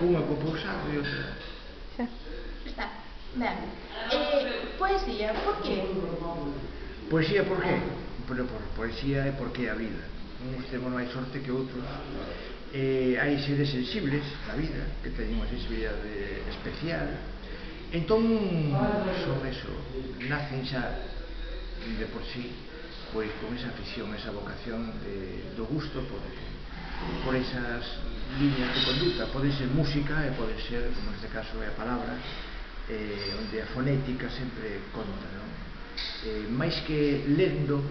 unha co pousado e outra. Xa. Está. Ben. Poesía, por que? Poesía por qué? Por poesía é porque é a vida. Uns temos máis sorte que outros. Hai seres sensibles na vida que teñen unha sensibilidade especial. Entón, son eso, nacen xa de por sí pois con esa afición, esa vocación do gusto por esas líneas de conduta. Pode ser música e pode ser, como neste caso é a palabra, onde a fonética sempre conta, non? Máis que lendo,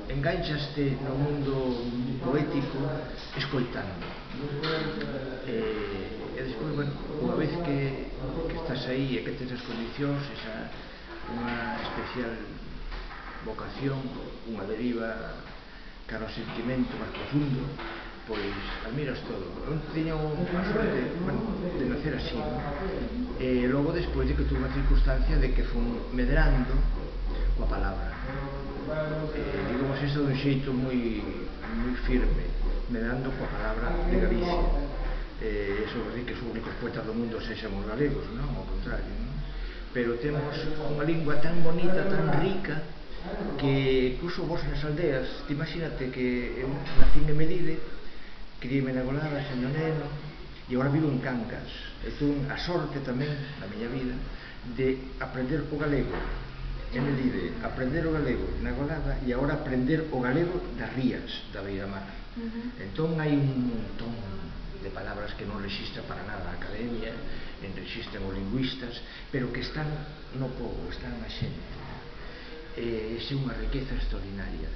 enganchaste no mundo poético escoitando. E despois, bueno, unha vez que estás aí e que tens as condicións, esa unha especial vocación, unha deriva cara ao sentimento máis profundo, pois admiras todo. Eu teño a sorte, bueno, de nacer así, non? E logo despois de que tuve unha circunstancia de que fun medrando coa palabra, digamos isto dun xeito moi firme, medrando coa palabra de Galicia. Eso é dicir que os únicos poetas do mundo sexamos galegos, non? Ao contrario, non? Pero temos unha lingua tan bonita, tan rica, que incluso vos nas aldeas, imagínate que eu nacín en Melide, criei-me na Golada, sendo neno, e agora vivo en Cancas. E tuve a sorte tamén, na miña vida, de aprender o galego en Melide, aprender o galego na Golada e agora aprender o galego das rías da Beiramar. Entón hai un montón de palabras que non rexistra para nada a academia, en rexistran os lingüistas, pero que están no povo, están na xente. É unha riqueza extraordinaria.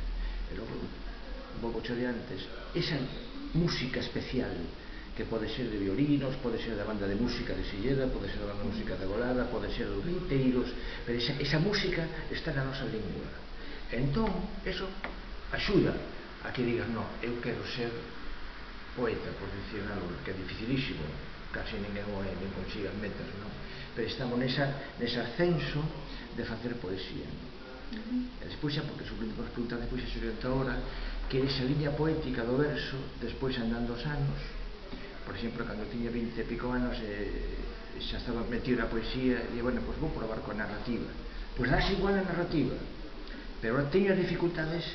E logo, un pouco de antes, esa música especial que pode ser de violinos, pode ser da banda de música de Silleda, pode ser da banda de música de Golada, pode ser dos gaiteiros, pero esa música está na nosa lingua. Entón, eso axuda a que digas, non, eu quero ser poeta, por decir algo, que é dificilísimo, casi ninguén o é, nin consiga metas, non? Pero estamos nese ascenso de facer poesía, non? E despois xa, porque suplindo as preguntas despois xa se orienta ahora, que esa liña poética do verso, despois andando os anos, por exemplo, cando tiña 20 e pico anos, xa estaba metido na poesía, e bueno, pois vou probar coa narrativa. Pois dás igual a narrativa, pero ahora teño as dificultades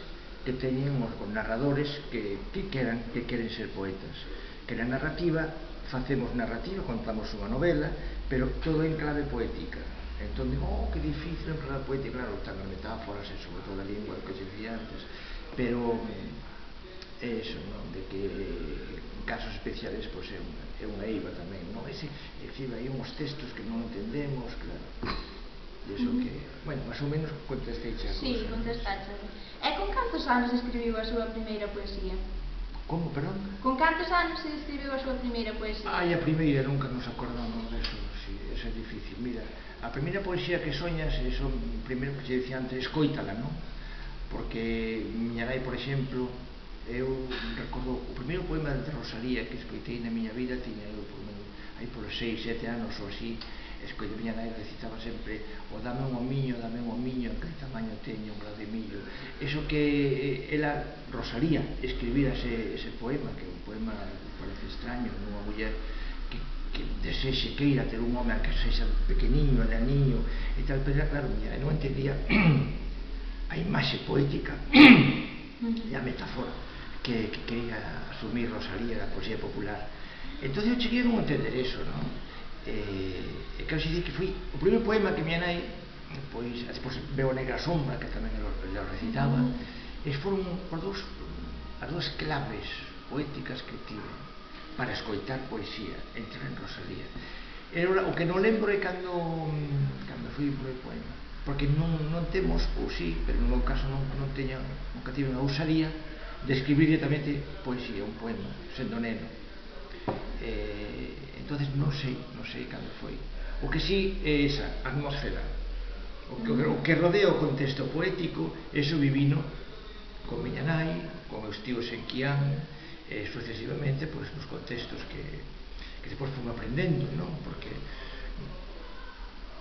que teñen os narradores que queren ser poetas, que na narrativa facemos narrativa, contamos unha novela, pero todo en clave poética. Entón digo, que difícil en clave poética, claro, están as metáforas e sobre todo a lingua que se dicía antes, pero é eso, non? De que en casos especiales pois é unha eiva tamén, non? Exhibe aí uns textos que non entendemos, claro. E iso que, bueno, máis ou menos contestei xa a cousa. Sí, contestaste. E con cantos anos escribiu a súa primeira poesía? Como, perdón? Con cantos anos se escribiu a súa primeira poesía? A primeira, nunca nos acordamos deso, sí, eso é difícil. Mira, a primeira poesía que soñas, eso, primeiro que che dicía antes, escoítala, non? Porque miña nai, por exemplo, eu recordo o primeiro poema de Rosalía que escoitei na miña vida, tiña eu aí polos 6, 7 anos ou así, escoitei, miña nai recitaba sempre o dame un homiño, en que tamaño teño un grao de millo. Eso que ela, Rosalía, escribira ese poema, que é un poema parece extraño, nunha muller que desexe, queira ter un home que sexa pequeniño, naniño e tal, pero claro, miña nai non entendía a imaxe poética e a metáfora que quería asumir Rosalía da poesía popular. Entón eu cheguei a non entender eso, non? Quero dicir que foi o primeiro poema que miña nai, pois, despois veo a Negra Sombra, que tamén lo recitaba, e foron as dúas claves poéticas que tive para escoitar poesía, entre en Rosalía. O que non lembro é cando foi o primeiro poema, porque non temos, ou sí, pero no meu caso non teño, nunca tive unha ousadía de escribir directamente poesía, un poema, sendo neno. Entonces non sei cando foi. O que sí é esa atmósfera, o que rodea o contexto poético, eso vivino con miña nai, con meus tíos en Quián, sucesivamente, pois, nos contextos que depois fomos aprendendo, non? Porque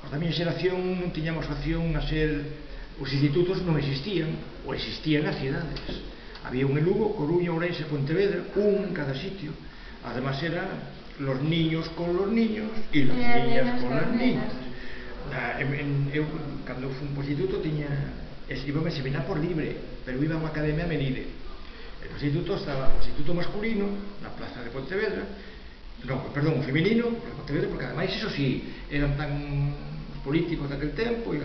os da miña xeración non tiñamos opción a ser, os institutos non existían, ou existían nas cidades. Había un en Lugo, Coruña, Ourense, Pontevedra, un en cada sitio. Además era los niños con los niños e las niñas con las niñas. Eu, cando fui un instituto, íbame a seminar por libre, pero iba a unha academia a Menide. O instituto estaba o instituto masculino na plaza de Pontevedra, perdón, o feminino de Pontevedra, porque ademais, iso sí, eran tan políticos daquel tempo e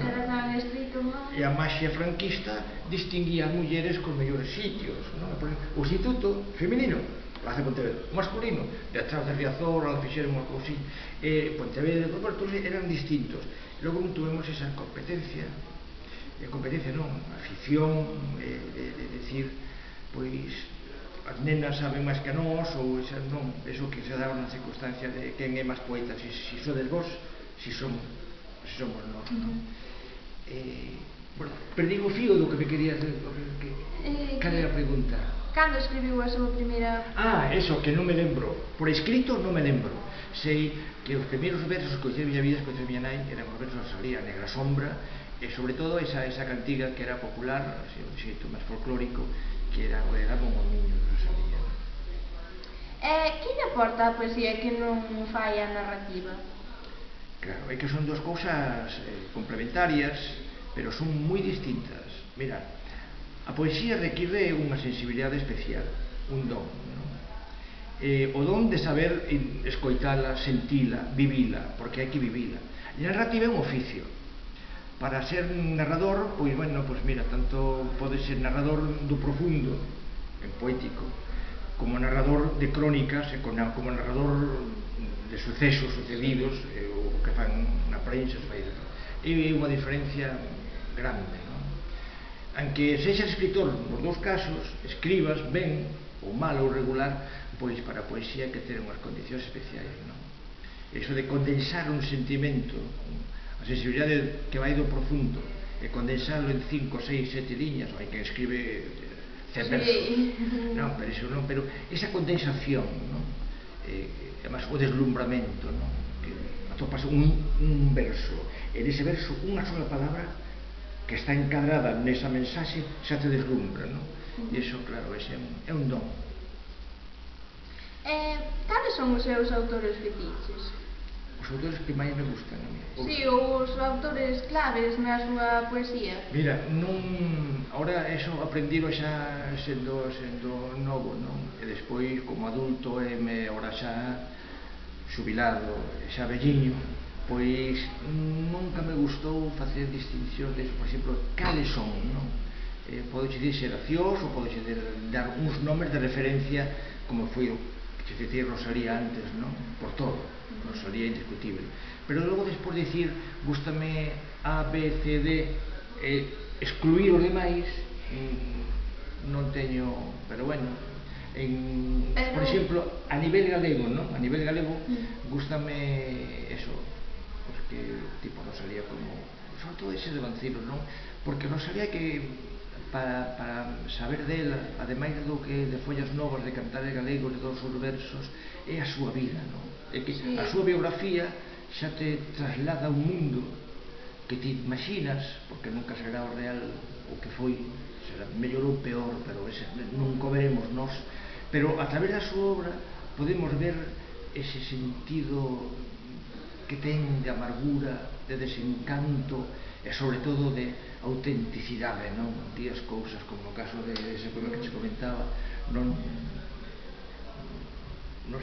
a maxia franquista distinguía as mulleres cos mellores sitios. O instituto feminino, plaza de Pontevedra, o masculino, de atrás de Riazor, al fixeron unha cousinha, Pontevedra, por parte, eran distintos. Logo non tuvemos esa competencia non, afición de decir, pois as nenas saben máis que nós, ou esas non, eso que se daba na circunstancia de quen é máis poeta, si sodes vos, si somos nós, non? Bueno, perdí o fío do que me querías dizer. Cal é a pregunta? Cando escribiu a súa primeira... Eso, que non me lembro. Por escrito non me lembro. Sei que os primeiros versos que coñecei na miña vida, que coñecei a miña nai, eran os versos de Rosalía, Negra Sombra, e sobre todo esa cantiga que era popular, un xeito máis folclórico, que era o de Dame un homiño de Rosalía. Que lle aporta a poesía que non fai a narrativa? Claro, é que son dúas cousas complementarias, pero son moi distintas. Mira, a poesía require unha sensibilidade especial, un don, non? O don de saber escoitala, sentila, vivila, porque hai que vivila. E a narrativa é un oficio. Para ser narrador, pois, bueno, pois mira, tanto pode ser narrador do profundo, en poético, como narrador de crónicas, como narrador de sucesos sucedidos, o que fan na prensa, é unha diferencia grande, non? Aunque sexas escritor nos dous casos, escribas ben, ou mal ou regular, pois para a poesía hai que ter unhas condicións especiais, non? Eso de condensar un sentimento, a sensibilidade que vai do profundo, e condensarlo en 5, 6, 7 liñas, hai que escribe 100 versos. Non, pero iso non, pero esa condensación, non? Además, o deslumbramento, non? Que atopas un verso, e nese verso unha sola palabra que está encadrada nesa mensaxe xa te deslumbra, non? E iso, claro, ese é un don. Cales son os seus autores fetiches? Os autores que máis me gustan a mí. Si, os autores claves na súa poesía. Mira, ahora eso aprendiro xa sendo novo, non? E despois, como adulto, ahora xa xubilado, xa velliño, pois nunca me gustou facer distincións de, por exemplo, cales son, non? Podo dicir xeracións, ou podo dar uns nomes de referencia, como foi o que dicir Rosalía antes, non? Por todo, Rosalía indiscutible. Pero logo despois dicir, gústame A, B, C, D, excluir os demais, non teño, pero bueno, por exemplo, a nivel galego, non? A nivel galego, gústame eso, porque tipo Rosalía, como, sobre todo ese de Vancilos, non? Porque Rosalía que para saber dela, ademais do que de follas novas de cantares galegos, de todos os versos, é a súa vida, non? É que a súa biografía xa te traslada a un mundo que te imaginas, porque nunca será o real o que foi, será mellor ou peor, pero nunca o veremos nós, pero a través da súa obra podemos ver ese sentido que ten de amargura, de desencanto e sobre todo de autenticidade, non? Días cousas como no caso de ese poema que te comentaba, non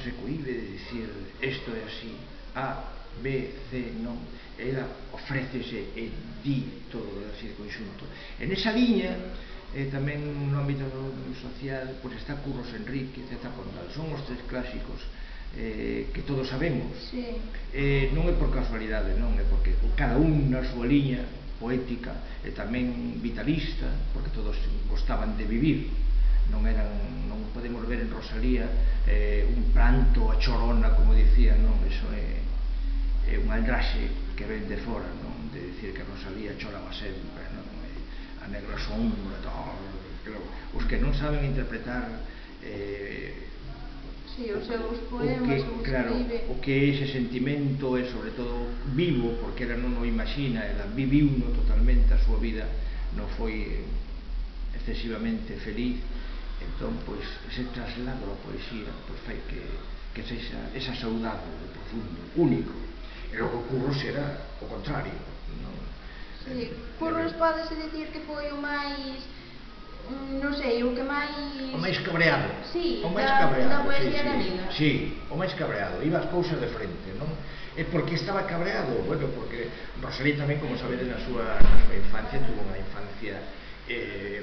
se cohibe de dicir isto é así, A, B, C, non? Ela ofrécese e di todo así de conxunto. En esa liña, tamén no ámbito social, pois está Curros Enrique, Zeta Pondal, son os tres clásicos que todos sabemos. Non é por casualidade, non? É porque cada un na súa liña poética e tamén vitalista, porque todos gostaban de vivir, non podemos ver en Rosalía un pranto a chorona, como dicía, non? Iso é un aldraxe que ven de fora, non? De dicir que Rosalía choraba sempre, non? A Negra Sombra, os que non saben interpretar os seus poemas, o que é ese sentimento, e sobre todo vivo, porque ela non o imagina, ela viviuno totalmente, a súa vida non foi excesivamente feliz, entón, pois, ese traslado a poesía, pois, fai que que sexa esa saudade de profundo, único. E logo Curros era o contrario, non? Si, Curros pódese dicir que foi o máis, non sei, o que máis... O máis cabreado. Sí, o máis cabreado, da poesía galega. Sí, o máis cabreado, iba as cousas de frente, non? E por que estaba cabreado? Bueno, porque Rosalía tamén, como sabedes, na súa infancia tuvo unha infancia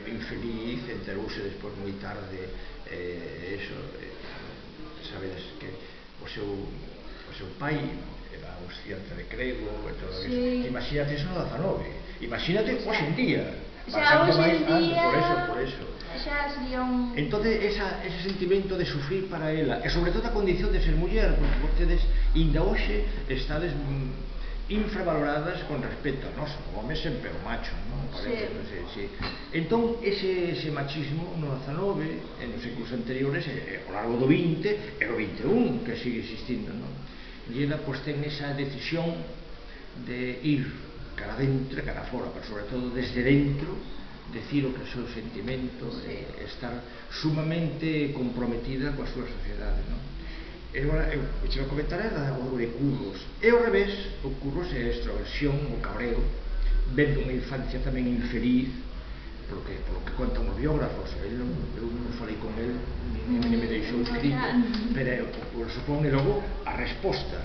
infeliz, enterouse despois moi tarde, sabedes que o seu pai era un estudiante de grego e todo Sí. iso. Imagínate eso no 19, imagínate hoxe en día. Xa hoxe en día... Por eso. Xa sería un... Entón, ese sentimento de sufrir para ela, e sobre todo a condición de ser muller, porque vostedes, inda hoxe, estades infravaloradas con respecto a nós, o home sempre o macho, non? Sí. Entón, ese machismo no 19, en os séculos anteriores, ao largo do 20 e o 21, que sigue existindo, non? E ela, pois, ten esa decisión de ir cara dentro e cara fora, pero sobre todo desde dentro, decir o que é o seu sentimento, estar sumamente comprometida coa súa sociedade, non? E agora, o que vou comentar é o de Curros. E ao revés, o Curros é a extroversión, o cabreo, vendo unha infancia tamén infeliz, polo que contan os biógrafos. Eu non falei con el, nem me deixou escrito, pero supón, e logo, a resposta,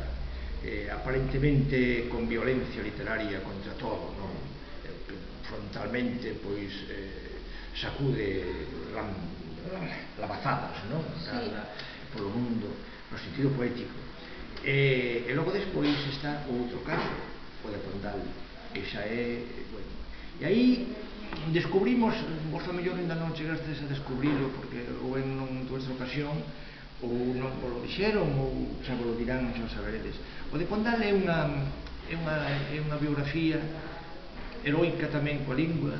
aparentemente con violencia literaria contra todo, non? Frontalmente, pois, sacude lavazadas, non? Polo mundo, no sentido poético. E logo despois está o outro caso, o de Pondal, que xa é, bueno, e aí descubrimos, vos a mellor ainda non chegastes a descubrilo, porque ou en non tuve ocasión, ou non vos lo dixeron, ou xa vos lo dirán, xa o saberedes. O de Pondal é unha biografía heroica tamén coa lingua,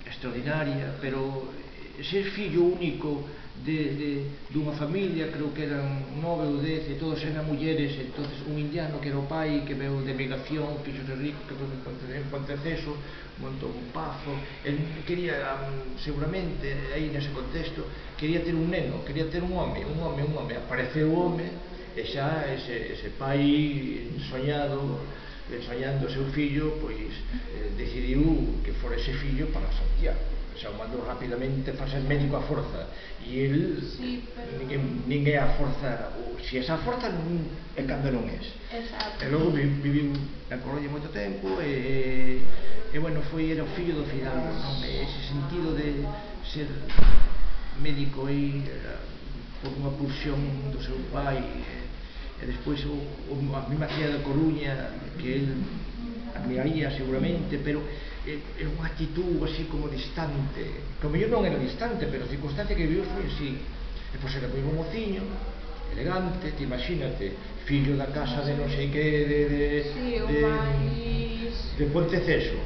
extraordinaria, pero ser fillo único dunha familia, creo que eran 9 ou 10, e todos eran mulleres. Entonces un indiano que era o pai, que veu de emigración, fixose rico, que foi en Ponteceso, montou un pazo. El quería, seguramente, aí nese contexto, quería ter un neno, quería ter un home. Apareceu o home, e xa ese pai soñando o seu fillo, pois decidiu que fora ese fillo para Santiago. Xa o mandou rapidamente para ser médico a forza, e el ninguén a forza, se esa forza é cando non es. E logo viviu na Coruña moito tempo, e bueno, era o fillo do Fidalgo, non? Ese sentido de ser médico aí por unha pulsión do seu pai, e despois a mesma cidade da Coruña, que el admiraría seguramente, pero é unha actitud así como distante, que o mellor non era distante, pero a circunstancia que viviu foi así. E pois era moi bon mociño, elegante, te imagínate, fillo da casa de non sei que, de Ponteceso,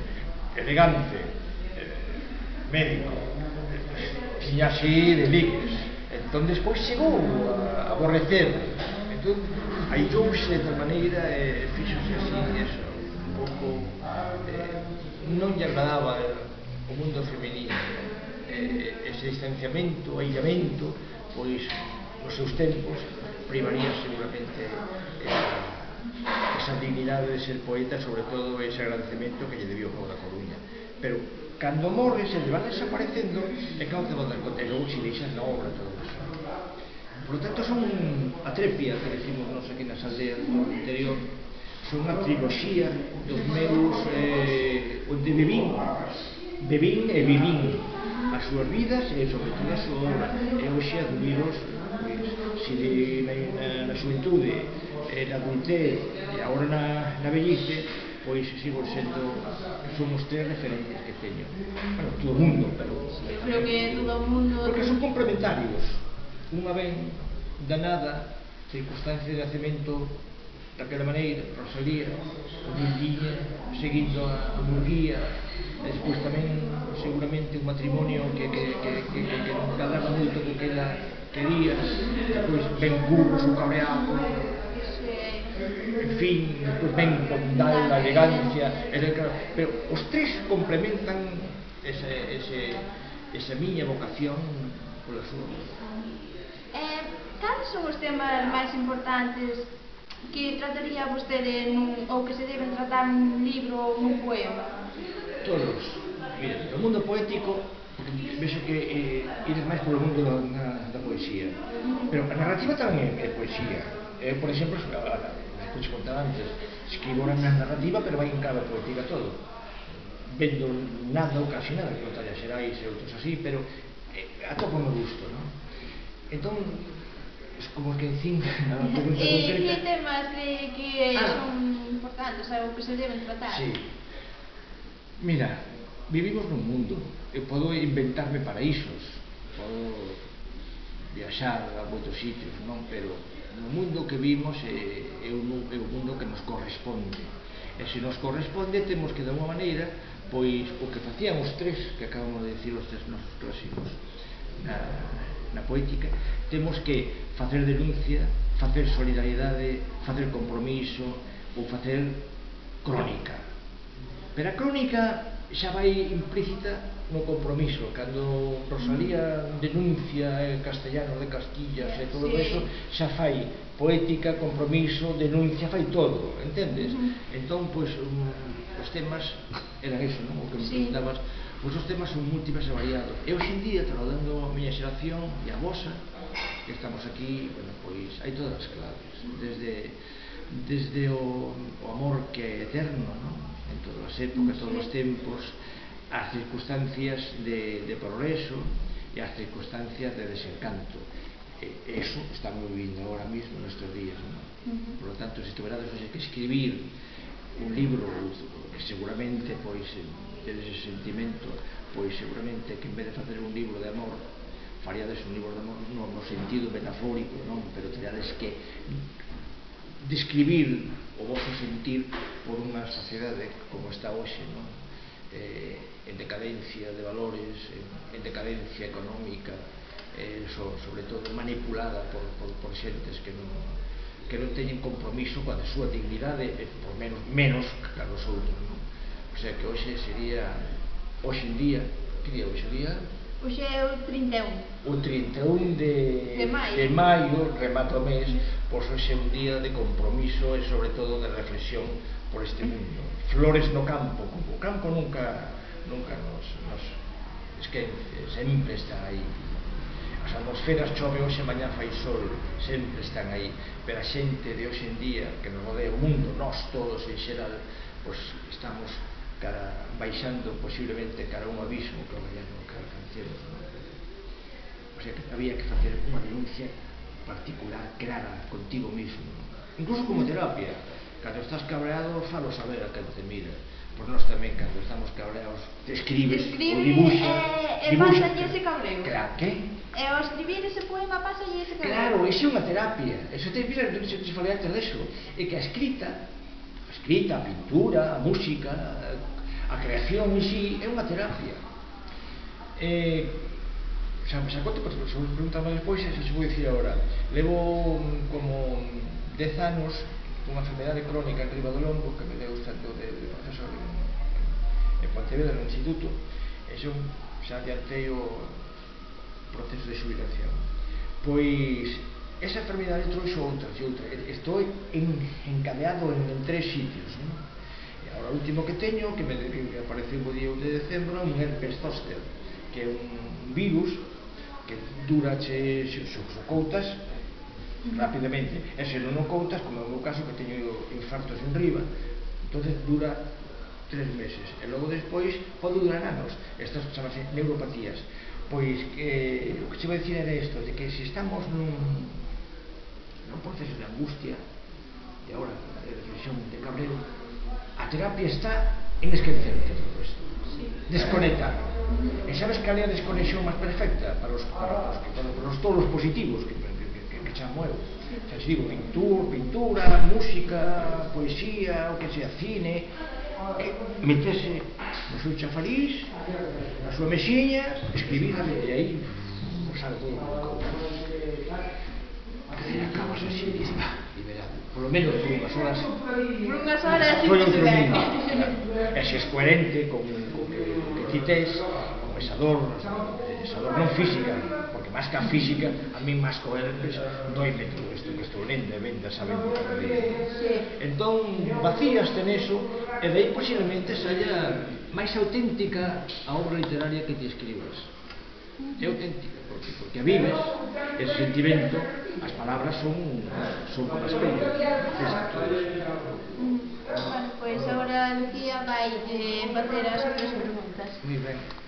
elegante, médico, tiña así de ligues. Entón despois chegou a aborrecer, entón aillouse de tal maneira e fixose así, eso, un pouco, non lle agradaba o mundo femenino, ese distanciamento, aillamento, pois nos seus tempos privaría seguramente esa dignidade de ser poeta, sobre todo ese agradecemento que lle debió o povo da Coruña. Pero cando morre, se van desaparecendo, e claro que van dar conta, e logo se deixan na obra todo eso. Por lo tanto, son a trepia que decimos nos aquí nas aldeas do interior, son unha triloxía dos meus onde bebín e vivín as súas vidas e sobre todo a súa obra. E hoxe admiros, se na xuventude, na adultez e agora na vellice, pois sigo sendo, son os tres referentes que teño. Bueno, todo o mundo, pero eu creo que todo o mundo, porque son complementarios. Unha ben danada circunstancia de nacemento daquela maneira, Rosalía, humildiña, seguindo a Murguía, e despois tamén seguramente un matrimonio que non calaba moito co que ela quería, despois ben Curros, o cabreado, en fin, despois ben Pondal, a elegancia, pero os tres complementan esa miña vocación pola súa. cales son os temas máis importantes que trataría vostede ou que se deben tratar nun libro ou nun poema? Todos. Mira, no mundo poético, vexo que ides máis polo mundo da poesía, pero a narrativa tamén é poesía. Por exemplo, como te contaba antes, escribo unha narrativa, pero vai en clave poética todo, vendo nada ou casi nada, que Natalia Xerais e outros así, pero atopo me gusto, non? Entón, como que decín a pregunta concreta. E que temas que son importantes, ou que se deben tratar? Sí. Mira, vivimos nun mundo, eu podo inventarme paraísos, podo viaxar a moitos sitios, non? Pero no mundo que vimos é un mundo que nos corresponde, e se nos corresponde temos que de alguma maneira, pois o que facían os tres, que acabamos de decir os tres nosos clásicos na poética, temos que facer denuncia, facer solidaridade, facer compromiso ou facer crónica. Pero a crónica xa vai implícita no compromiso. Cando Rosalía denuncia en castellano de Castillas e todo eso, xa fai poética, compromiso, denuncia, fai todo, entendes? Entón, pois, os temas eran eso, non? O que me preguntabas, pois os temas son múltiples e variados. E hoxe en día, trasladando a miña xeración e a vosa, que estamos aquí, bueno, pois, hai todas as claves, desde o amor que é eterno, non? En todas as épocas, todos os tempos, as circunstancias de progreso e as circunstancias de desencanto. Eso estamos vivindo agora mismo nestes días, non? Por lo tanto, se tuverades que escribir un libro que seguramente, pois, tedes ese sentimento, pois seguramente que en vez de facer un libro de amor, faríades un libro de amor no sentido metafórico, non? Pero teríades que describir o vosso sentir por unha sociedade como está hoxe, non? En decadencia de valores, en decadencia económica, sobre todo manipulada por xentes que non teñen compromiso coa súa dignidade, por menos que a dos outros, non? O sea que hoxe sería, hoxe en día, que día hoxe día? Hoxe é o 31. O 31 de maio, remata o mes, pois hoxe é un día de compromiso e sobre todo de reflexión por este mundo. Flores no campo, o campo nunca nos esquece, sempre está aí. As atmosferas chove hoxe, mañá fai sol, sempre están aí, pero a xente de hoxe en día que nos rodea o mundo, nós todos en xeral, pois estamos baixando posiblemente cara a un abismo que alcancemos, non? O sea que había que facer unha denuncia particular, clara, contigo mismo, incluso como terapia. Cando estás cabreado, falo saber a quen te mira. Pois nós tamén, cando estamos cabreados, te escribes ou dibuixas. E pásalle ese cabreo. Claro, que? E ao escribir ese poema pásalle ese cabreo. Claro, iso é unha terapia. Eso te mira, se falei antes deso. É que a escrita, a pintura, a música, a creación en sí é unha terapia. Se conto, se vos preguntaba despois, se vos vou dicir agora. Levo como 10 anos unha enfermedade crónica en riba do lombo que me deu tanto de profesor en Pontevedra, no instituto, e xa adiantei o proceso de xubilación. Pois esa enfermedade trouxe outra. Estou encadeado en 3 sitios, non? E agora o último que teño, que me apareceu o día 1 de decembro, é un herpes zóster, que é un virus que dura, se coutas rapidamente, e se non o coutas, como é o meu caso, que teño infartos en riba, entonces dura 3 meses, e logo despois pode durar anos. Estas chamanse neuropatías. Pois o que che vou dicir era isto, de que se estamos nun proceso de angustia, e agora de reflexión, de cabreo, a terapia está en esquecerte todo isto, desconectar. E sabes cal é a desconexión máis perfecta para os todos os positivos que chamo eu? Xa se digo, pintura, música, poesía, o que sea, cine, meterse no seu chafariz, na súa mesiña, escribir, e aí sale todo o que acabas así, liberado, polo menos por unhas horas. Por unhas horas, foi outro mundo. E se es coherente con que ti tes, con esa dor non física, porque máis que a física, a mí máis co herpes doime todo isto que estou lendo e vendo sabendo cada día. Entón vacíaste neso e de aí posiblemente saia máis auténtica a obra literaria que te escribas. É auténtica porque a vives, ese sentimento, as palabras son como as pellas, refrescan todo iso. Bueno, pois agora Lucía vai facer as outras preguntas. Moi ben.